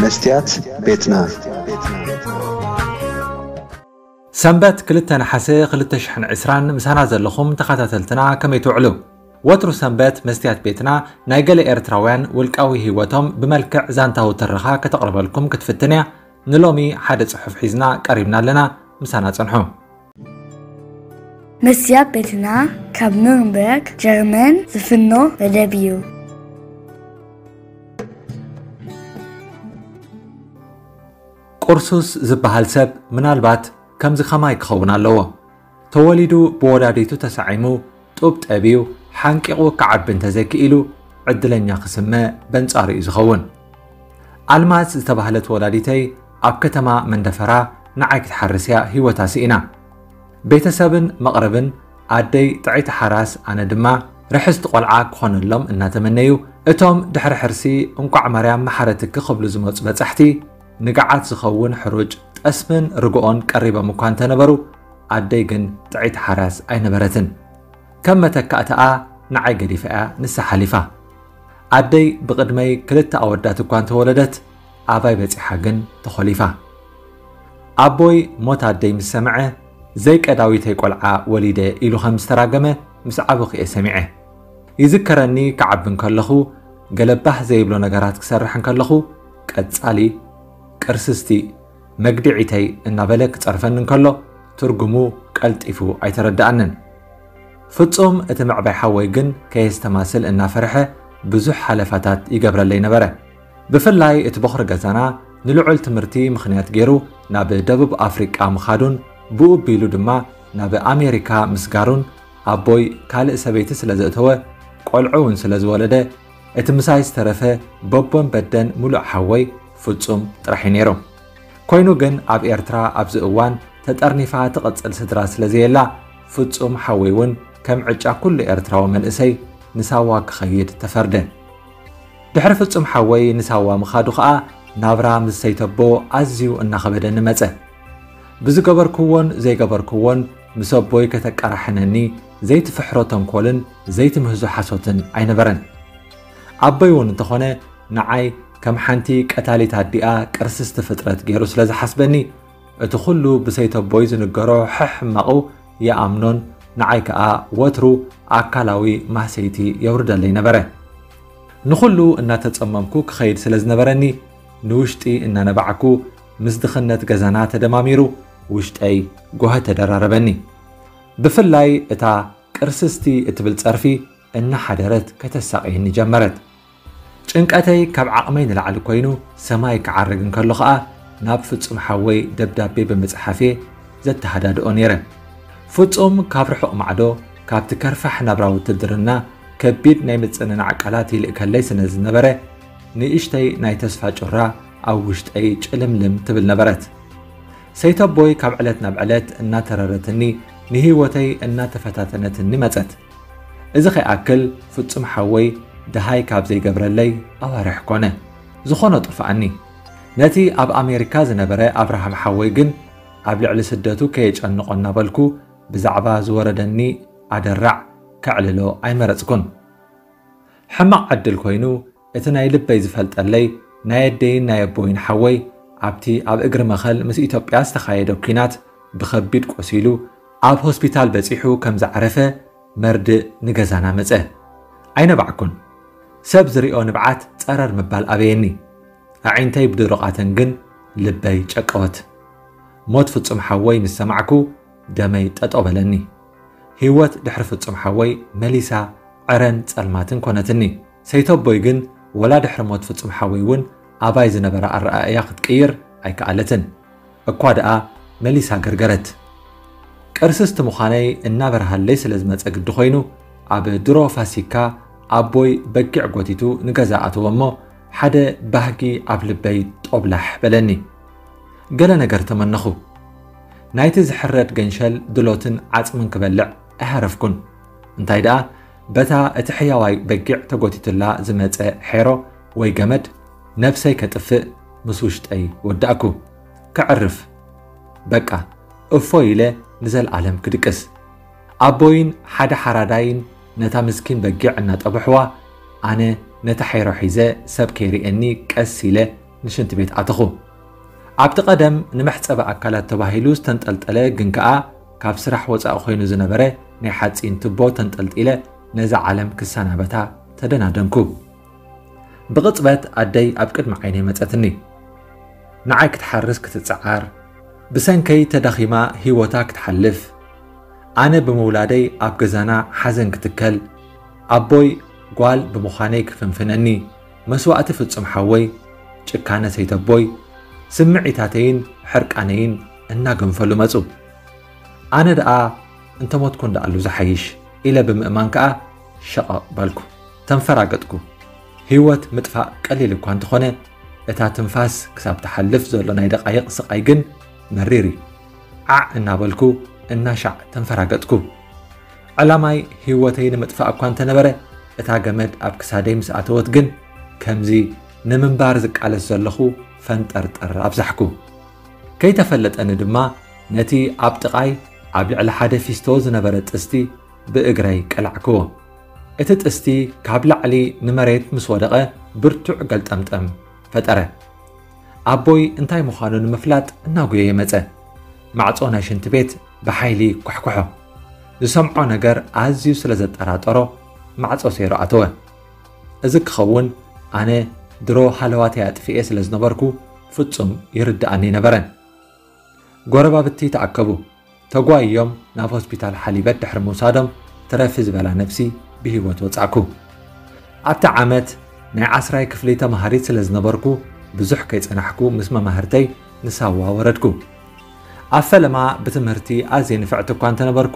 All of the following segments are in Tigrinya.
መስትያት ቤትና። ሰንበት ክልተ ነሓሰ ክልተ ሽሕን ዕስራን ምሳና ዘለኹም ተኸታተልትና ከመይ ትውዕሉ? ወትሩ ሰንበት መስትያት ቤትና ናይ ገለ ኤርትራውያን ውልቃዊ ህይወቶም ብመልክዕ ዛንታዊ ትረኻ ከተቕርበልኩም ክትፍትን እያ። ንሎሚ ሓደ ጽሑፍ ሒዝና ቀሪብና ኣለና። ምሳና ጽንሑ። መስትያት ቤትና ካብ ኑርንበርግ ጀርመን ዝፍኖ መደብ እዩ። ቁርሱስ ዝበሃል ሰብ ምናልባት ከምዚ ከማይ ክኸውን ኣለዎ። ተወሊዱ ብወላዲቱ ተሳዒሙ ጡብ ጠብዩ ሓንቂቑ ክዓቢ እንተዘይክኢሉ ዕድለኛ ክስመ በንጻሩ እዩ ዝኸውን። ኣልማዝ ዝተባህለት ወላዲተይ ኣብ ከተማ መንደፈራ ንዓይ ክትሓርስ እያ ህይወታ ስኢና። ቤተሰብን መቕርብን ኣደይ ጥዕይቲ ሓራስ ኣነ ድማ ርሕስቲ ቆልዓ ክኾነሎም እናተመነዩ እቶም ድሕሪ ሕርሲ እንቋዕ ማርያም መሓረትኪ ክብሉ ዝመፁ በጻሕቲ ንግዓት ዝኸውን ሕሩጭ ጠስምን ርግኦን ቀሪቦም እኳ እንተነበሩ ኣደይ ግን ጥዕይቲ ሓራስ ኣይነበረትን። ከም መተካእታኣ ንዓይ ገዲፋ እያ ንሳ ሓሊፋ። ኣደይ ብቕድመይ ክልተ ኣወዳት እኳ እንተወለደት ኣባይ በጺሓ ግን ተኾሊፋ። ኣቦይ ሞት ኣደይ ምስ ሰምዐ ዘይቀዳዊተይ ቆልዓ ወሊደ ኢሉ ከም ዝተራገመ ምስ ዓበኹ እየ ሰሚዐ። ይዝከረኒ ክዓቢ እንከለኹ ገለ ባህ ዘይብሎ ነገራት ክሰርሕ እንከለኹ ቀጻሊ ቅርስስቲ መግድዒተይ እናበለ ክጸርፈኒ እንከሎ ትርጉሙ ቀልጢፉ ኣይተረድኣንን። ፍጹም እቲ ምዕባይ ሓወይ ግን ከየስተማስል እናፈርሐ ብዙሕ ሓለፋታት ይገብረለይ ነበረ። ብፍላይ እቲ ቦኽሪ ገዛና ንልዑል ትምህርቲ ምኽንያት ገይሩ ናብ ደቡብ ኣፍሪቃ ምኻዱን ብኡ ኣቢሉ ድማ ናብ ኣሜሪካ ምስጋሩን ኣቦይ ካልእ ሰበይቲ ስለ ዘእተወ ቆልዑ እውን ስለ ዝወለደ እቲ ምሳይ ዝተረፈ በቦን በደን ምሉእ ሓወይ ፍጹም ጥራሕ እዩ ነይሩ። ኮይኑ ግን ኣብ ኤርትራ ኣብዚ እዋን ተጠርኒፋ ትቕጽል ስድራ ስለ ዘየላ ፍጹም ሓወይ እውን ከም ዕጫ ኩሉ ኤርትራዊ መንእሰይ ንሳዋ ክኸይድ ተፈርደ። ድሕሪ ፍጹም ሓወይ ንሳዋ ምኻዱ ኸኣ ናብራ ምስ ሰይተቦ ኣዝዩ እናኸበደኒ መጸ። ብዝገበርክዎን ዘይገበርክዎን ምስ ኣቦይ ከተቀራሕነኒ ዘይትፍሕሮ ተንኮልን ዘይትምህዞ ሓሶትን ኣይነበረን። ኣቦይ እውን እንተኾነ ንዓይ ከም ሓንቲ ቀታሊት ኣዲኣ ቅርስስቲ ፍጥረት ገይሩ ስለ ዝሓስበኒ እቲ ኩሉ ብሰይተቦይ ዝንገሮ ሕሕማቑ ይኣምኖን ንዓይ ከኣ ወትሩ ኣካላዊ ማህሰይቲ የውርደለይ ነበረ። ንኹሉ እናተጸመምኩ ክኸይድ ስለ ዝነበረኒ ንውሽጢ እናነባዕኩ ምስ ድኽነት ገዛና ተደማሚሩ ውሽጠይ ጎሀ ተደራረበኒ። ብፍላይ እታ ቅርስስቲ እትብል ጸርፊ እናሓደረት ከተሳቕየኒ ጀመረት። ጭንቀተይ ካብ ዓቕመይ ንላዕሊ ኮይኑ ሰማይ ክዓርግ እንከሎ ኸኣ ናብ ፍጹም ሓወይ ደብዳቤ ብምጽሓፍ እየ ዘተሃዳድኦ ነይረ። ፍጹም ካብ ርሑቕ ማዕዶ ካብቲ ከርፋሕ ናብራ ውትድርና ከቢድ ናይ ምጽንናዕ ቃላት ይልእከለይ ስለ ዝነበረ ንእሽተይ ናይ ተስፋ ጩራ ኣብ ውሽጠይ ጭልምልም ትብል ነበረት። ሰይተቦይ ካብ ዕለት ናብ ዕለት እናተረረትኒ ንህይወተይ እናተፈታተነትኒ መጸት። እዚ ከይኣክል ፍጹም ሓወይ ደሃይ ካብ ዘይገብረለይ ኣዋርሕ ኮነ። ዝኾኖ ጠፍኣኒ። ነቲ ኣብ ኣሜሪካ ዝነበረ ኣብርሃም ሓወይ ግን ኣብ ልዕሊ ስደቱ ከየጨንቖ እናበልኩ ብዛዕባ ዝወረደኒ ኣደራዕ ከዕልሎ ኣይመረጽኩን። ሕማቕ ዕድል ኮይኑ እቲ ናይ ልበይ ዝፈልጠለይ ናይ ኣደይን ናይ ኣቦይን ሓወይ ኣብቲ ኣብ እግሪ መኸል ምስ ኢትዮጵያ ዝተኻየደ ኲናት ብኸቢድ ቆሲሉ ኣብ ሆስፒታል በጺሑ ከም ዝዓረፈ መርድእ ንገዛና መጸ። ኣይነባዕኩን። ሰብ ዝሪኦ ንብዓት ጸረር ምባል ኣበየኒ። ኣዒንተይ ብድሩቓተን ግን ልበይ ጨቀወት። ሞት ፍጹም ሓወይ ምስ ሰማዕኩ ደመይ ጠጠው በለኒ። ህይወት ድሕሪ ፍጹም ሓወይ መሊሳ ዕረን ጸልማትን ኮነትኒ። ሰይተቦይ ግን ወላ ድሕሪ ሞት ፍጹም ሓወይ እውን ኣባይ ዝነበራ ኣረኣእያ ክትቅይር ኣይከኣለትን። እኳ ደኣ መሊሳ ገርገረት። ቅርስስቲ ምዃነይ እናበርሃለይ ስለ ዝመጸ ግዲ ኮይኑ ኣብ ድሮ ፋሲካ ኣቦይ በጊዕ ጎቲቱ ንገዛ ኣተወ እሞ ሓደ ባህጊ ኣብ ልበይ ጦብላሕ በለኒ። ገለ ነገር ተመነኹ። ናይቲ ዝሕረድ ገንሸል ድሎትን ዓጽምን ክበልዕ ኣይሃረፍኩን። እንታይ ደኣ በታ እቲ ሕያዋይ በጊዕ ተጎቲቱላ ዝመጸ ሔሮ ወይ ገመድ ነብሰይ ከጥፍእ ምስ ውሽጠይ ወዳእኩ። ከዕርፍ በቃ እፎ ኢለ ንዘልኣለም ክድቅስ። ኣቦይን ሓደ ሓራዳይን ነታ ምስኪን በጊዕ እናጠብሕዋ ኣነ ነታ ሔሮ ሒዘ ሰብ ከይርእየኒ ቀስ ኢለ ንሽንቲ ቤት ኣተኹ። ኣብቲ ቀደም ንመሕጸቢ ኣካላት ተባሂሉ ዝተንጠልጠለ ግን ከኣ ካብ ስራሕ ወጻኢ ኮይኑ ዝነበረ ናይ ሓጺን ትቦ ተንጠልጢለ ነዛ ዓለም ክሰናበታ ተደናደንኩ። ብቕጽበት ኣደይ ኣብ ቅድሚ ዓይነይ መጸትኒ። ንዓይ ክትሓርስ ክትጸዓር፣ ብሰንከይ ተዳኺማ ህይወታ ክትሓልፍ፣ ኣነ ብምውላደይ ኣብ ገዛና ሓዘን ክትከል፣ ኣቦይ ጓል ብምዃነይ ክፍንፍነኒ፣ መስዋእቲ ፍጹም ሓወይ፣ ጭካነ ሰይተቦይ፣ ስምዒታተይን ሕርቃነይን እናገንፈሉ መጹ። ኣነ ደኣ እንተሞትኩ እንዳኣሉ ዝሓይሽ ኢለ ብምእማን ከኣ ሸቐቕ በልኩ። ተንፈራገጥኩ። ህይወት ምጥፋእ ቀሊል እኳ እንተኾነ፣ እታ ትንፋስ ክሳብ ትሓልፍ ዘሎ ናይ ደቓይቕ ስቓይ ግን መሪር እዩ። ዓዕ እናበልኩ እናሻዕ ተንፈራገጥኩ። ዕላማይ ህይወተይ ንምጥፋእ እኳ እንተነበረ፣ እታ ገመድ ኣብ ክሳደይ ምስ ኣተወት ግን ከምዚ ንምንባር ዝቃለስ ዘለኹ ፈንጠርጠር ኣብዛሕኩ። ከይተፈለጠኒ ድማ ነቲ ኣብ ጥቓይ ኣብ ልዕሊ ሓደ ፊስቶ ዝነበረ ጥስቲ ብእግረይ ቀላዕክዎ። እቲ ጥስቲ ካብ ላዕሊ ንመሬት ምስ ወደቐ ብርቱዕ ገልጠምጠም ፈጠረ። ኣቦይ እንታይ ምዃኑ ንምፍላጥ እናጉየየ መጸ። ማዕጾ ናይ ሽንቲ ቤት ብሓይሊ ኳሕኩሖ። ዝሰምዖ ነገር ኣዝዩ ስለ ዘጠራጠሮ ማዕጾ ሰይሩ ኣተወ። እዚ ክኸውን ኣነ ድሮ ሃለዋተይ ኣጥፊኤ ስለ ዝነበርኩ ፍጹም ይርድኣኒ ኣይነበረን። ጎረባብቲ ተኣከቡ። ተጓይዮም ናብ ሆስፒታል ሓሊበት ድሕሪ ምውሳዶም ትረፊ ዝበላ ነፍሲ ብህይወት ወጻእኩ። ኣብቲ ዓመት ናይ ዓስራይ ክፍሊ ተማሃሪት ስለ ዝነበርኩ ብዙሕ ከይጸናሕኩ ምስ መማህርተይ ንሳዋ ወረድኩ። ኣብ ፈለማ ብትምህርቲ ኣዝየ ንፍዕቲ እኳ እንተነበርኩ፣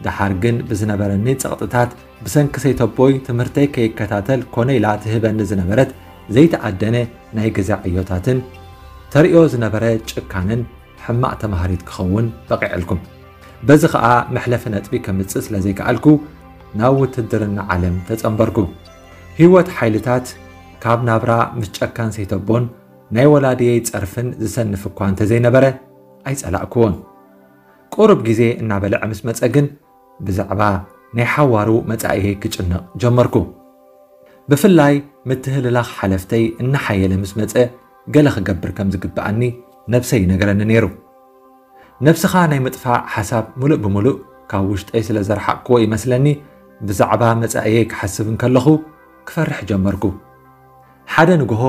ደሓር ግን ብዝነበረኒ ጸቕጥታት ብሰንኪ ሰይተቦይ ትምህርተይ ከይከታተል ኮነ ኢላ ትህበኒ ዝነበረት ዘይተኣደነ ናይ ገዛ ዕዮታትን ተርእዮ ዝነበረ ጭካነን ሕማቕ ተማሃሪት ክኸውን በቒዐልኩም። በዚ ኸኣ መሕለፊ ነጥቢ ከምጽእ ስለ ዘይከኣልኩ ናብ ውትድርና ዓለም ተጸንበርኩ። ህይወት ሓይልታት ካብ ናብራ ምስ ጨካን ሰይተቦን ናይ ወላድየይ ጸርፍን ዝሰንፍ እኳ እንተዘይነበረ ኣይጸላእክዎን። ቁሩብ ግዜ እናበልዐ ምስ መጸ ግን ብዛዕባ ናይ ሓዋሩ መጻኢየይ ክጭነቕ ጀመርኩ። ብፍላይ ምትህልላኽ ሓለፍተይ እናሓየለ ምስ መጸ ገለ ክገብር ከም ዝግብኣኒ ነብሰይ ይነግረኒ ነይሩ። ነብስኻ ናይ ምጥፋእ ሓሳብ ምሉእ ብምሉእ ካብ ውሽጠይ ስለ ዘርሓቕክዎ ይመስለኒ ብዛዕባ መጻኢየይ ክሓስብ እንከለኹ ክፈርሕ ጀመርኩ። ሓደ ንግሆ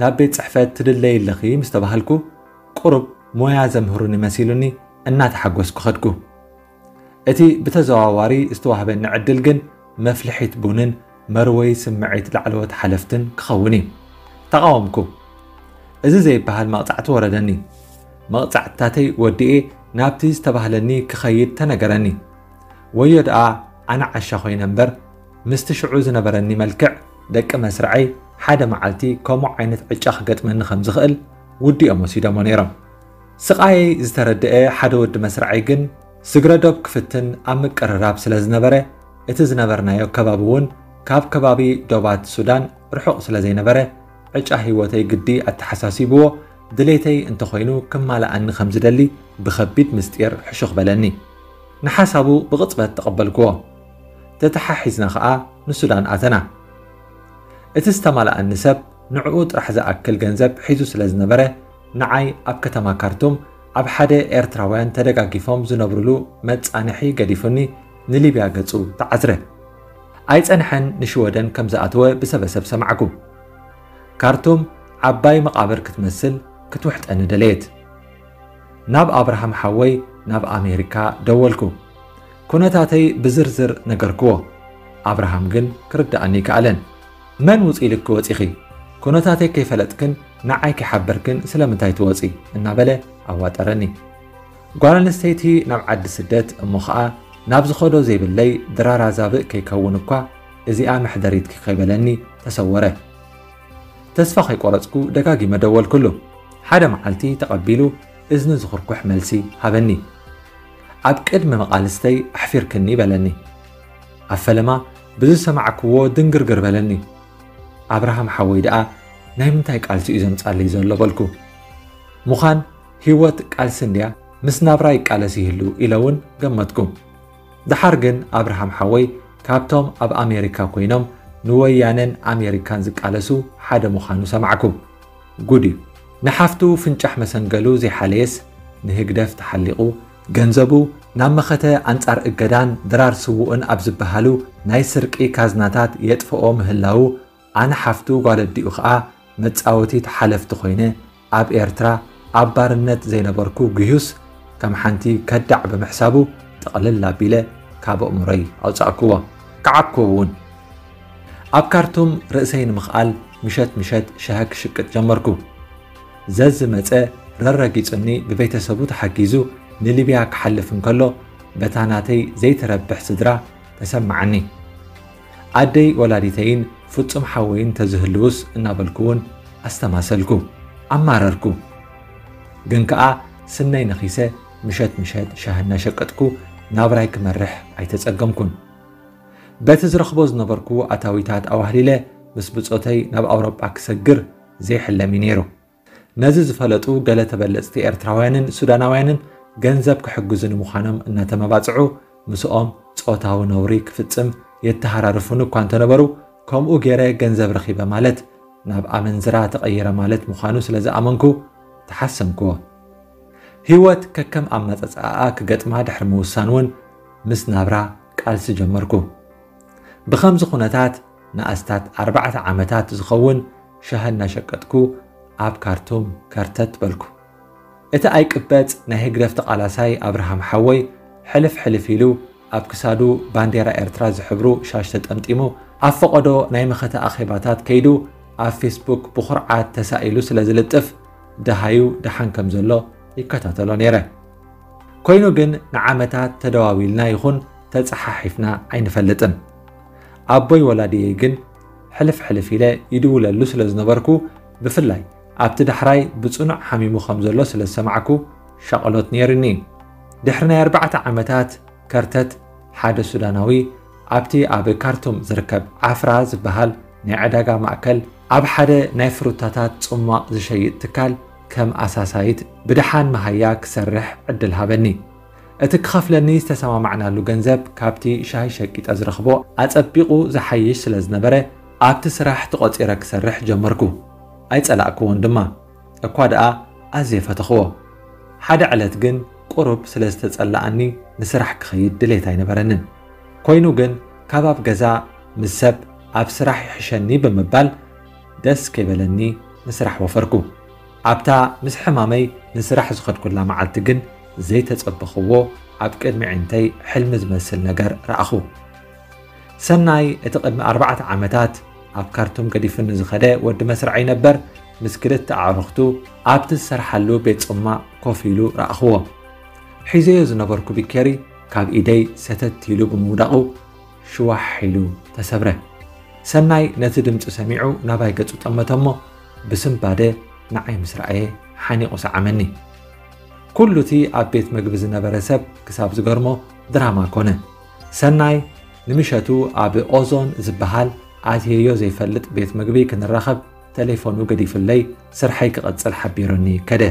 ናብ ቤት ጽሕፈት ትድለዪ ኣለኺ ምስ ተባሃልኩ ቁሩብ ሞያ ዘምህሩኒ መሲሉኒ እናተሓጎስኩ ኸድኩ። እቲ ብተዘዋዋሪ ዝተዋህበኒ ዕድል ግን መፍልሒት ቡንን መርወይ ስምዒት ላዕለዎት ሓለፍትን ክኸውን እዩ። ተቓወምኩ። እዚ ዘይበሃል መቕጻዕቲ ወረደኒ። መቕጻዕትታተይ ወዲኤ ናብቲ ዝተባህለኒ ክኸይድ ተነገረኒ። ወዮ ደኣ ኣነ ዓሻ ኮይነ እምበር ምስቲ ሽዑ ዝነበረኒ መልክዕ ደቂ መስርዐይ ሓደ መዓልቲ ከምኡ ዓይነት ዕጫ ክገጥመኒ ከም ዝኽእል ውዲኦም ወሲዶሞ ነይሮም። ስቓየይ ዝተረድአ ሓደ ወዲ መስርዐይ ግን ስግረዶብ ክፍትን ኣብ ምቅርራብ ስለ ዝነበረ እቲ ዝነበርናዮ ከባቢ እውን ካብ ከባቢ ዶባት ሱዳን ርሑቕ ስለ ዘይነበረ ዕጫ ህይወተይ ግዲ ኣተሓሳሲብዎ ድሌተይ እንተኾይኑ ክማልኣኒ ከም ዝደሊ ብኸቢድ ምስጢር ሕሹኽ በለኒ። ንሓሳቡ ብቕጽበት ተቐበልክዎ። ተተሓሒዝና ኸኣ ንሱዳን ኣተና። እቲ ዝተማልኣኒ ሰብ ንዕኡ ጥራሕ ዝኣክል ገንዘብ ሒዙ ስለ ዝነበረ ንዓይ ኣብ ከተማ ካርቱም ኣብ ሓደ ኤርትራውያን ተደጋጊፎም ዝነብሩሉ መጻንሒ ገዲፉኒ ንሊብያ ገጹ ተዓዝረ። ኣይጸንሐን ንሽወደን ከም ዝኣተወ ብሰበሰብ ሰማዕኩ። ካርቱም ዓባይ መቓብር ክትመስል ክትውሕጠኒ ደለየት። ናብ ኣብርሃም ሓወይ ናብ ኣሜሪካ ደወልኩ። ኩነታተይ ብዝርዝር ነገርክዎ። ኣብርሃም ግን ክርድኣኒ ኣይከኣለን። መን ውፅ ኢልኪ ወፂኺ? ኩነታተይ ከይፈለጥክን ንዓይ ከይሓበርክን ስለምንታይ ትወፂ? እናበለ ኣዋጠረኒ። ጓል ኣንስተይቲ ናብ ዓዲ ስደት እሞ ኸኣ ናብ ዝኸዶ ዘይብለይ ድራራ ዛብእ ከይከውን እኳ እዚኣ መሕደሪትኪ ከይበለኒ ተሰወረ። ተስፋ ከይቆረፅኩ ደጋጊመ ደወልኩሉ። ሓደ መዓልቲ ተቐቢሉ እዝኒ ዝኹርኩሕ መልሲ ሃበኒ። ኣብ ቅድሚ መቓልስተይ ኣሕፊርክኒ በለኒ። ኣብ ፈለማ ብዝሰማዕክዎ ድንግርግር በለኒ። ኣብርሃም ሓወይ ደኣ ናይ ምንታይ ቃልሲ እዩ ዘምጻለይ ዘሎ በልኩ። ምዃን ህይወት ቃልሲ እንድያ ምስ ናብራ ይቃለስ ይህሉ ኢለ እውን ገመትኩ። ደሓር ግን ኣብርሃም ሓወይ ካብቶም ኣብ ኣሜሪካ ኮይኖም ንወያነን ኣሜሪካን ዝቃለሱ ሓደ ምዃኑ ሰማዕኩ። ጉድ እዩ። ንሓፍቱ ፍንጫሕ መሰንገሉ ዘይሓለየስ፣ ንህግደፍ ተሓሊቑ፣ ገንዘቡ ናብ መኸተ ኣንጻር እገዳን ድራር ስዉእን ኣብ ዝበሃሉ ናይ ስርቂ ካዝናታት የጥፍኦ ምህላዉ፣ ኣነ ሓፍቱ ጓል ኣዲኡ ኸኣ መጻወቲት ሓለፍቲ ኮይነ ኣብ ኤርትራ ኣብ ባርነት ዘይነበርኩ ግዩስ ከም ሓንቲ ከዳዕ ብምሕሳቡ ጥቕልል ኣቢለ ካብ ኣእምሮይ ኣውጻእክዎ። ከዓብክዎ እውን። ኣብ ካርቱም ርእሰይ ንምኽኣል ምሸት ምሸት ሻሂ ክሽቅጥ ጀመርኩ። ዘዝመጸ ረረጊጹኒ ብቤተሰቡ ተሓጊዙ ንሊብያ ክሓልፍ እንከሎ በታ ናተይ ዘይትረብሕ ስድራ ተሰማዓኒ። ኣደይ ወላዲተይን ፍጹም ሓወይን ተዝህልውስ እናበልኩ እውን ኣስተማሰልኩ፣ ኣማረርኩ። ግን ከኣ ስነይ ነኺሰ ምሸት ምሸት ሻሂ እናሸቀጥኩ ናብራይ ክመርሕ ኣይተጸገምኩን። በቲ ዝረኽቦ ዝነበርኩ ኣታዊታት ኣዋህሊለ ምስ ብጾተይ ናብ ኣውሮጳ ክሰግር ዘይሕለም እዩ ነይሩ። ነዚ ዝፈለጡ ገለ ተበለጽቲ ኤርትራውያንን ሱዳናውያንን ገንዘብ ክሕግዙኒ ምዃኖም እናተመባጽዑ ምስኦም ጾታዊ ነውሪ ክፍጽም የተሃራርፉኒ እኳ እንተነበሩ፣ ከምኡ ገይረ ገንዘብ ረኺበ ማለት ናብ ኣመንዝራ ተቐይረ ማለት ምዃኑ ስለ ዝኣመንኩ ተሓሰምክዎ። ህይወት ከከም ኣመጻጽኣኣ ክገጥማ ድሕሪ ምውሳን እውን ምስ ናብራ ቃልሲ ጀመርኩ። ብኸምዚ ኩነታት ንኣስታት ኣርባዕተ ዓመታት ዝኸውን ሻሂ እናሸቀጥኩ ኣብ ካርቱም ከርተት በልኩ። እቲ ኣይቅበጽ ናይ ህግደፍ ተቓላሳይ ኣብርሃም ሓወይ ሕልፍ ሕልፍ ኢሉ ኣብ ክሳዱ ባንዴራ ኤርትራ ዝሕብሩ ሻሽ ተጠምጢሙ ኣብ ፈቐዶ ናይ መኸተ ኣኼባታት ከይዱ ኣብ ፌስቡክ ብኹርዓት ተሳኢሉ ስለ ዝልጥፍ ደሃዩ ደሓን ከም ዘሎ ይከታተሎ ነይረ። ኮይኑ ግን ንዓመታት ተደዋዊልና ይኹን ተጸሓሒፍና ኣይንፈልጥን። ኣቦይ ወላዲየይ ግን ሕልፍ ሕልፍ ኢለ ይድውለሉ ስለ ዝነበርኩ ብፍላይ ኣብቲ ዳሕራይ ብጽኑዕ ሓሚሙ ከም ዘሎ ስለ ዝሰማዕኩ ሻቕሎት ነይሩኒ። ድሕሪ ናይ ኣርባዕተ ዓመታት ከርተት ሓደ ሱዳናዊ ኣብቲ ኣብ ካርቱም ዝርከብ ዓፍራ ዝበሃል ናይ ዕዳጋ ማእከል ኣብ ሓደ ናይ ፍሩታታት ጽሟቕ ዝሸይጥ ትካል ከም ኣሳሳይት ብደሓን መሃያ ክሰርሕ ዕድል ሃበኒ። እቲ ክኸፍለኒ ዝተሰማማዕናሉ ገንዘብ ካብቲ ሻሂ ሸቂጠ ዝረኽቦ ኣጸቢቑ ዝሓይሽ ስለ ዝነበረ ኣብቲ ስራሕ ተቖጺረ ክሰርሕ ጀመርኩ። ኣይጸላእክዎን ድማ። እኳ ደኣ ኣዝየ ፈተኽዎ። ሓደ ዕለት ግን ቁሩብ ስለ ዝተጸላኣኒ ንስራሕ ክኸይድ ድሌት ኣይነበረንን። ኮይኑ ግን ካብ ኣብ ገዛ ምስ ሰብ ኣብ ስራሕ ይሕሸኒ ብምባል ደስ ከይበለኒ ንስራሕ ወፈርኩ። ኣብታ ምስ ሕማመይ ንስራሕ ዝኸድኩላ መዓልቲ ግን ዘይተጸበኽዎ ኣብ ቅድሚ ዕንተይ ሕልሚ ዝመስል ነገር ረኣኹ። ሰናይ እቲ ቅድሚ ኣርባዕተ ዓመታት ኣብ ካርቱም ገዲፉኒ ዝኸደ ወዲ መስርዐይ ነበር ምስ ክልተ ኣዕሩኽቱ ኣብቲ ዝሰርሓሉ ቤት ጽማቕ ኮፍ ኢሉ ረኣኽዎ። ሒዘዮ ዝነበርኩ ቢኬሪ ካብ ኢደይ ሰተት ኢሉ ብምውዳቑ ሽዋሕ ኢሉ ተሰብረ። ሰናይ ነቲ ድምጺ ሰሚዑ ናባይ ገጹ ጠመተ እሞ ብስንባደ ንዓይ ምስ ረኣየ ሓኒቑ ሰዓመኒ። ኩሉ እቲ ኣብ ቤት መግቢ ዝነበረ ሰብ ክሳብ ዝገርሞ ድራማ ኮነ። ሰናይ ንምሸቱ ኣብ ኦዞን ዝበሃል ኣትየዮ ዘይፈልጥ ቤት መግቢ ክንራኸብ ተሌፎኑ ገዲፉለይ ስርሐይ ክቐጽል ሓቢሩኒ ከደ።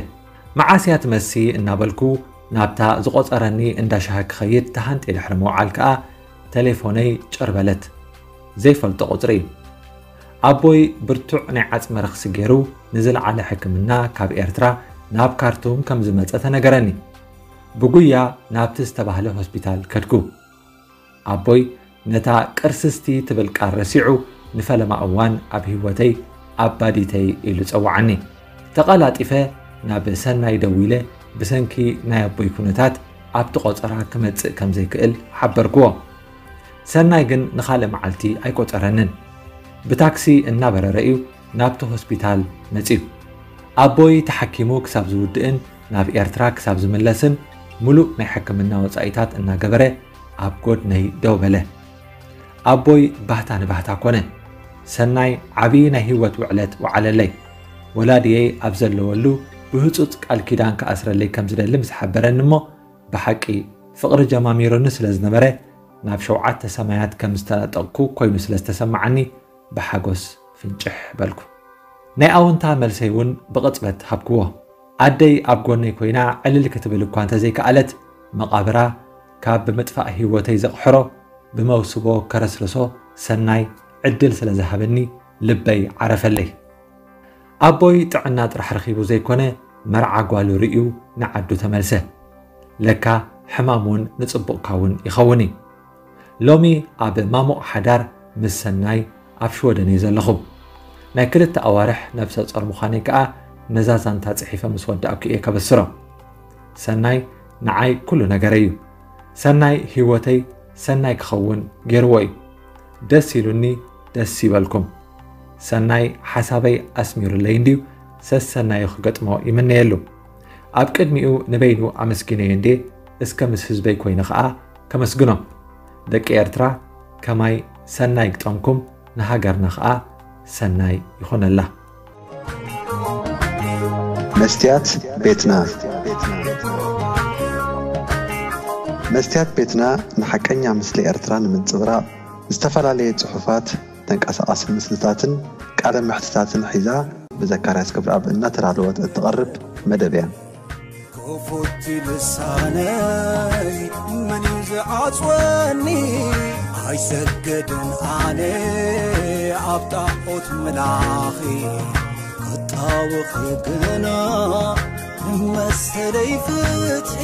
መዓስ እያ ትመሲ እናበልኩ ናብታ ዝቖጸረኒ እንዳ ሻሂ ክኸይድ ተሃንጥየ ድሕሪ ምውዓል ከኣ ተሌፎነይ ጭር በለት። ዘይፈልጦ ቁጽሪ እዩ። ኣቦይ ብርቱዕ ናይ ዓጽሚ ረኽሲ ገይሩ ንዝለዓለ ሕክምና ካብ ኤርትራ ናብ ካርቱም ከም ዝመጸ ተነገረኒ። ብጉያ ናብቲ ዝተባህለ ሆስፒታል ከድኩ። ኣቦይ ነታ ቅርስስቲ ትብል ቃል ረሲዑ ንፈለማ እዋን ኣብ ህይወተይ ኣባዲተይ ኢሉ ጸውዓኒ። ተቐላጢፈ ናብ ሰናይ ደዊለ ብሰንኪ ናይ ኣቦይ ኩነታት ኣብቲ ቆጸራ ክመጽእ ከም ዘይክእል ሓበርክዎ። ሰናይ ግን ንኻልእ መዓልቲ ኣይቆጸረንን። ብታክሲ እናበረረ እዩ ናብቲ ሆስፒታል መጺኡ። ኣቦይ ተሓኪሙ ክሳብ ዝውድእን ናብ ኤርትራ ክሳብ ዝምለስን ምሉእ ናይ ሕክምና ወጻኢታት እናገበረ ኣብ ጎድነይ ደው በለ። ኣቦይ ባህታ ንባህታ ኮነ። ሰናይ ዓቢ ናይ ህይወት ውዕለት ወዓለለይ። ወላድየይ ኣብ ዘለወሉ ብህጹጽ ቃል ኪዳን ክኣስረለይ ከም ዝደሊ ምስ ሓበረኒ እሞ ብሓቂ ፍቕሪ ጀማሚሩኒ ስለ ዝነበረ ናብ ሸውዓተ ሰማያት ከም ዝተነጠቕኩ ኮይኑ ስለ ዝተሰማዓኒ ብሓጎስ ፍንጭሕ በልኩ። ናይ ኣወንታ መልሰይ እውን ብቕጽበት ሃብክዎ። ኣደይ ኣብ ጎነይ ኮይና ዕልል ክትብል እኳ እንተዘይከኣለት መቓብራ ካብ ብምጥፋእ ህይወተይ ዘቕሕሮ ብመውስቦ ከረስርሶ ሰናይ ዕድል ስለ ዝሃበኒ ልበይ ዓረፈለይ። ኣቦይ ጥዕና ጥራሕ ረኺቡ ዘይኮነ፣ መርዓ ጓሉ ርእዩ ንዓዱ ተመልሰ። ለካ ሕማም እውን ንጽቡቕካ እውን ይኸውን እዩ። ሎሚ ኣብ ማሙቕ ሓዳር ምስ ሰናይ ኣብ ሽወደን እየ ዘለኹ። ናይ ክልተ ኣዋርሕ ነብሰ ጾር ምዃነይ ከኣ ነዛ ዛንታ ጽሒፈ ምስ ወዳእኩ እየ ከበስሮ። ሰናይ ንዓይ ኩሉ ነገረይ እዩ። ሰናይ ህይወተይ ሰናይ ክኸውን ገይርዎ እዩ። ደስ ኢሉኒ፣ ደስ ይበልኩም። ሰናይ ሓሳበይ ኣስሚሩለይ እንድዩ፣ ሰሰናዩ ክገጥሞ ይምነየሉ። ኣብ ቅድሚኡ ንበይኑ ኣመስጊነዮ እንዴ፣ እስከ ምስ ህዝበይ ኮይነ ኸኣ ከመስግኖ። ደቂ ኤርትራ ከማይ ሰናይ ግጠምኩም፣ ንሃገርና ኸኣ ሰናይ ይኹነላ። መስትያት ቤትና። መስትያት ቤትና ንሓቀኛ ምስሊ ኤርትራ ንምንጽብራቕ ዝተፈላለየ ጽሑፋት፣ ተንቀሳቓሲ ምስልታትን ቃለ መሕትታትን ሒዛ ብዘካርያስ ገብረኣብ እናተዳለወት እትቐርብ መደብ እያ። ክፉት ልሳነይ መን እዩ ዝዓጽወኒ? ኣይሰግድን ኣነ ኣብ ጣዖት ምላኺ፣ ክጣወኺ ግና መሰለይ ፍትሒ።